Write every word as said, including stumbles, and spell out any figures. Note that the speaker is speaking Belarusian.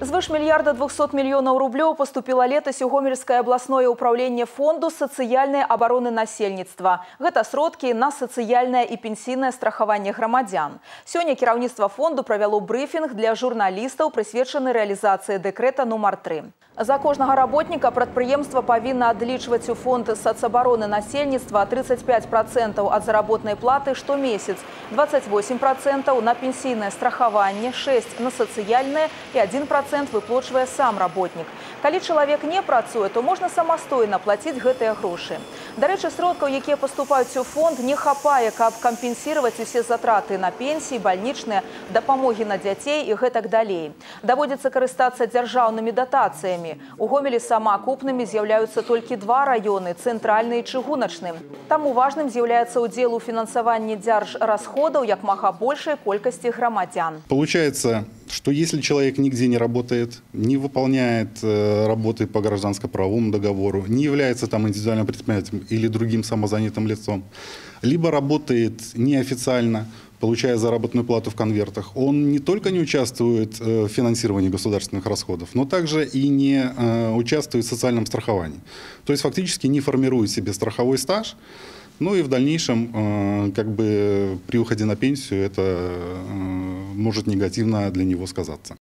Звыш мільярда двухсот мільёнаў рублёў поступила летась у Гомельскае абласное управленне фонду сацыяльнай абароны насельніцтва. Гэта сродкі на сацыяльнае і пенсійнае страхаванне грамадзян. Сёння кіраўніцтва фонду правяло брыфінг для журналістаў, прысвечаны рэалізацыі дэкрэта нумар тры. За кожнага работніка прадпрыемства павінна адлічваць у фонд сацабароны насельніцтва тридцать пять процентов ад заработнай платы штомесяц, двадцать восемь процентов на пенсійнае страхаванне, шесть процентов на сацыяльнае і один процент выплачвае сам работнік. Калі чалавек не працуе, то можна самастойна плаціць гэтыя грошы. Дарэчы, сродкаў, якія паступаюць у фонд, не хапае, каб кампенсировать усе затраты на пенсіі, бальнічныя, дапамогі на дзяцей і гэтак далей. Даводзіцца карыстацца дзяржаўнымі датацыямі. У Гомелі самаакупнымі з'яўляюцца толькі два раёны – цэнтральны і чыгуначны. Таму важным з'яўляецца ўдзел у фінансаванні дзяржрасходаў як мага большай колькасці грамадзян. Получается, что если человек нигде не работает, не выполняет э, работы по гражданско-правовому договору, не является там индивидуальным предпринимателем или другим самозанятым лицом, либо работает неофициально, получая заработную плату в конвертах, он не только не участвует в финансировании государственных расходов, но также и не участвует в социальном страховании. То есть фактически не формирует себе страховой стаж, ну и в дальнейшем, как бы при уходе на пенсию, это может негативно для него сказаться.